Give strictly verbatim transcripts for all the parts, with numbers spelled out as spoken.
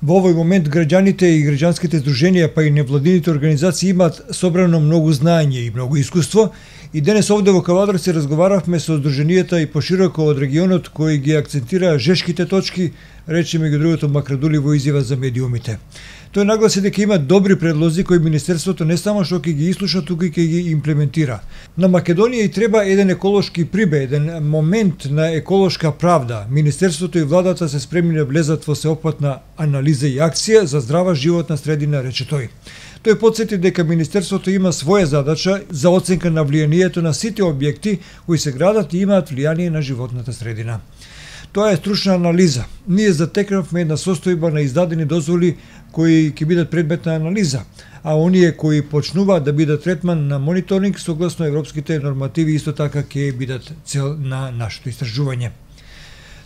Во овој момент граѓаните и граѓанските здруженија, па и невладините организации имаат собрано многу знаење и многу искуство, и денес овде во Кавадарци разговаравме со здруженијата и пошироко од регионот кои ги акцентираа жешките точки, рече меѓу другото Макрадули во изјава за медиумите. Тој нагласи дека има добри предлози кои Министерството не само што ќе ги ислуша, туку и ќе ги имплементира. На Македонија и треба еден еколошки прибе, еден момент на еколошка правда. Министерството и владата се спремни да влезат во сеопфатна анализа и акција за здрава животна средина, рече тој. Тој потсети дека Министерството има своја задача за оценка на влијанието на сите објекти кои се градат и имаат влијание на животната средина. Тоа е стручна анализа. Ние затекнавме една состојба на издадени дозволи кои ќе бидат предмет на анализа, а оние кои почнуваат да бидат третман на мониторинг согласно европските нормативи исто така ќе бидат цел на нашето истражување.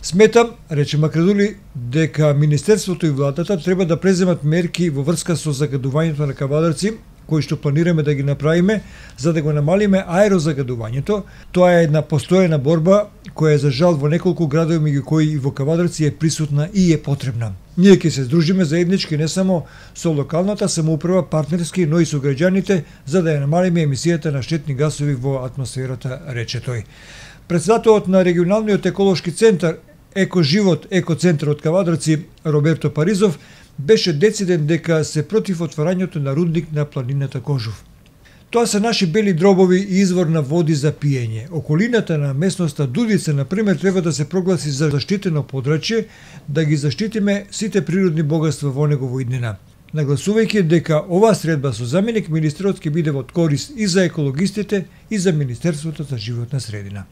Сметам, рече Макрадули, дека Министерството и владата треба да преземат мерки во врска со загадувањето на Кавадарци, кои што планираме да ги направиме за да го намалиме аерозагадувањето. Тоа е една постојана борба која за жал во неколку градови меѓу кои и во Кавадарци е присутна и е потребна. Ние ќе се здружиме заеднички не само со локалната самоуправа, партнерски, но и со граѓаните за да ја намалиме емисијата на штетни гасови во атмосферата, рече тој. Председателот на регионалниот еколошки центар Екоживот екоцентар од Кавадарци Роберто Паризов беше дециден дека се против отварањето на рудник на планината Кожув. Тоа се наши бели дробови и извор на води за пиење. Околината на местноста Дудица, например, треба да се прогласи за заштитено подрачје, да ги заштитиме сите природни богатства во негово иднина. Нагласувајќи дека оваа средба со заменик министерот ќе биде од корист и за екологистите и за Министерството за животна средина.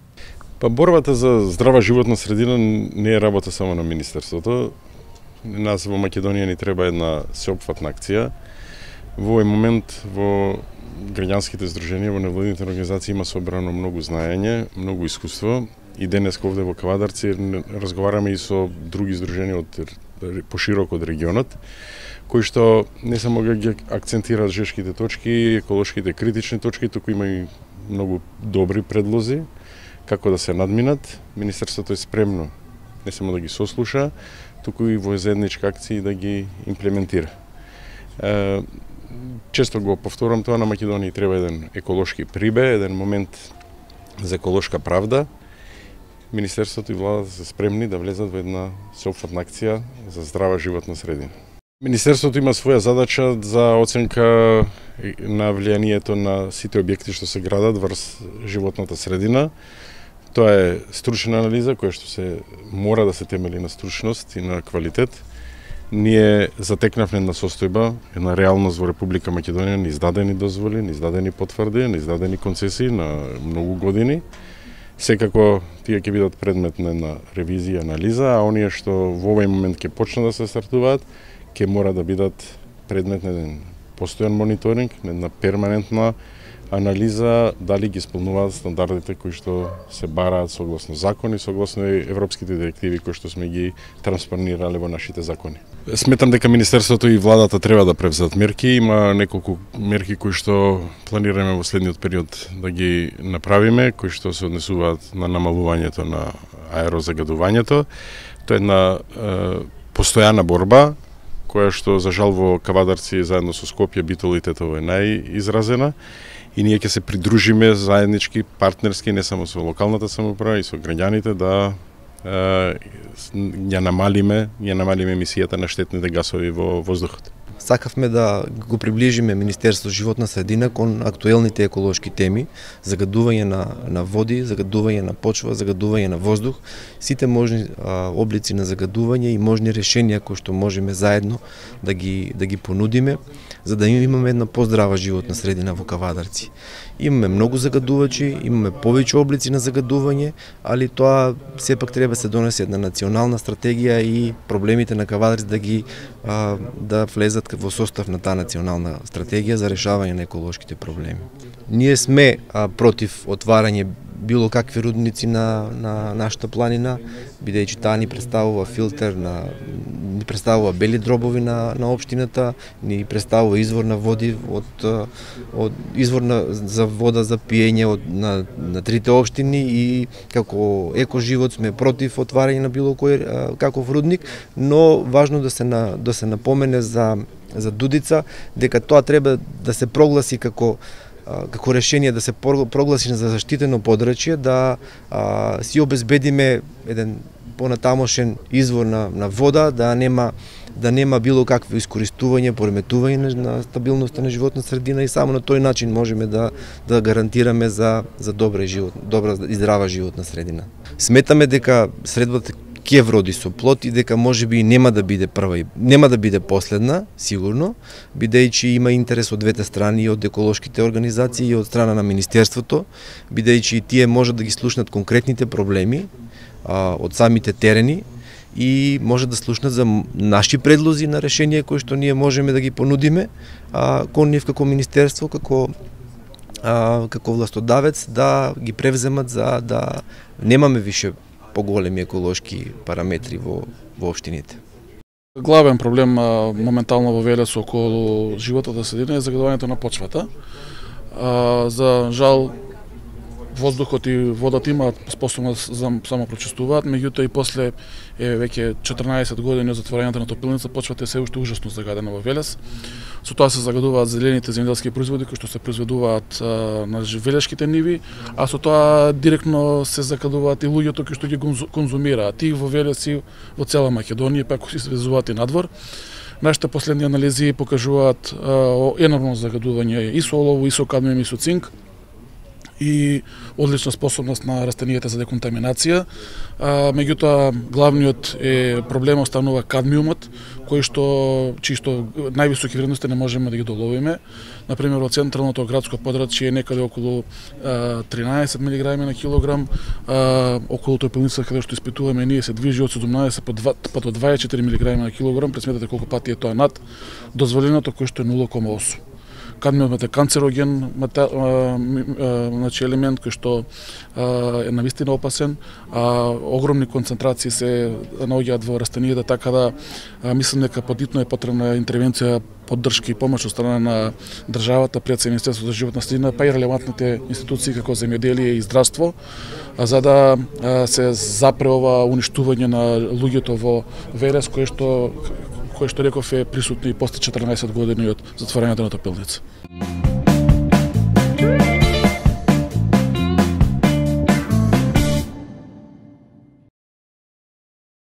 Па борбата за здрава животна средина не е работа само на Министерството. Нас во Македонија ни треба една сеопфатна акција. Во овој момент во граѓанските здруженија, во невладините организации има собрано многу знаење, многу искуство. И денес овде во Кавадарци разговараме и со други здруженија од пошироко од регионот, кои што не само ги акцентираат жешките точки, еколошките критични точки, туку има и многу добри предлози како да се надминат. Министерството е спремно не само да ги сослуша, туку и во заедничка акција да ги имплементира. Е, често го повторам тоа, на Македонија треба еден еколошки прибе, еден момент за еколошка правда. Министерството и владата се спремни да влезат во една сеопфатна акција за здрава животна средина. Министерството има своја задача за оценка на влијанието на сите објекти што се градат врз животната средина. Тоа е стручна анализа која што се мора да се темели на стручност и на квалитет. Ние затекнавме една состојба, една реалност во Република Македонија, не издадени дозволи, не издадени потврди, не издадени концесии на многу години. Секако тие ќе бидат предмет на една ревизија, анализа, а оние што во овој момент ќе почнат да се стартуваат, ќе мора да бидат предмет на еден постојан мониторинг, на една перманентна анализа дали ги исполнуваат стандардите кои што се бараат согласно закони, согласно европските директиви кои што сме ги транспонирале во нашите закони. Сметам дека Министерството и владата треба да превземат мерки. Има неколку мерки кои што планираме во следниот период да ги направиме, кои што се однесуваат на намалувањето на аерозагадувањето. Тоа е една е, постојана борба која што за жал во Кавадарци заедно со Скопје битолитетот е најизразена. И ние ќе се придружиме заеднички, партнерски, не само со локалната самоуправа и со граѓаните да е, ја намалиме, ја намалиме емисијата на штетните гасови во воздухот. Сакавме да го приближиме Министерство животна средина кон актуелните еколошки теми, загадување на, на води, загадување на почва, загадување на воздух, сите можни а, облици на загадување и можни решенија кои што можеме заедно да ги, да ги понудиме, за да имаме една поздрава животна средина во Кавадарци. Имаме многу загадувачи, имаме повеќе облици на загадување, али тоа сепак треба да се донесе една национална стратегија и проблемите на Кавадарци да ги а, да влезат во состав на таа национална стратегија за решавање на еколошките проблеми. Ние сме а, против отварање било какви рудници на, на нашата планина, бидејќи таа ни представува филтер, на, ни представува бели дробови на на општината, ни представува извор на води од од извор на, за вода за пиење од на на трите општини и како екоживот сме против отварање на било кој каков рудник, но важно да се на да се напомене за за Дудица дека тоа треба да се прогласи како како решение, да се прогласи за заштитено подрачје, да а, си обезбедиме еден понатамошен извор на, на вода, да нема да нема било какво искористување, пореметување на, на стабилноста на животна средина и само на тој начин можеме да да гарантираме за за добра живот, добра и здрава животна средина. Сметаме дека средбата ќе вроди со плод и дека можеби нема да биде прва и нема да биде последна, сигурно, бидејќи има интерес од двете страни, и од еколошките организации и од страна на министерството, бидејќи тие можат да ги слушнат конкретните проблеми а, од самите терени и може да слушнат за наши предлози на решенија кои што ние можеме да ги понудиме а, кон нив како министерство, како а, како властодавец да ги превземат за да немаме више поголеми еколошки параметри во во општините. Главен проблем а, моментално во Велес околу животната средина е загадувањето на почвата. А, за жал воздухот и водата имаат способност за самопрочистуваат, меѓутоа и после е веќе четрнаесет години од затворањето на топилница, почвата е се уште ужасно загадена во Велес. Со тоа се загадуваат зелените земјоделски производи кои што се произведуваат а, на велешките ниви, а со тоа директно се загадуваат и луѓето кои што ги конзумираат и во Велес и во цела Македонија, па ако се извезуваат и надвор. Нашите последни анализи покажуваат а, енормно загадување и со олово, и со кадмиум, и со цинк, и одлична способност на растенијата за деконтаминација. А, меѓутоа, главниот е проблем останува кадмиумот, кој што чисто највисоки вредности не можеме да ги доловиме. Например, во централното градско подрачје е некаде околу а, тринаесет милиграми на килограм, а, околу топилница каде што испитуваме ние се движи од седумнаесет па до дваесет и четири милиграми на килограм, пресметете колку пати е тоа над дозволеното кој што е нула кома осум. Кадмиумот е канцероген, значи елемент кој што е навистина опасен, а огромни концентрации се наоѓаат во растенијата, така да мислам дека подитно е потребна интервенција, поддршка и помош од страна на државата, пред се Министерството за животна средина, па и релевантните институции како земјоделие и здравство, за да се запре ова уништување на луѓето во Велес, кое што кој што реков е присутно и после четрнаесет години од затворањето на топилница.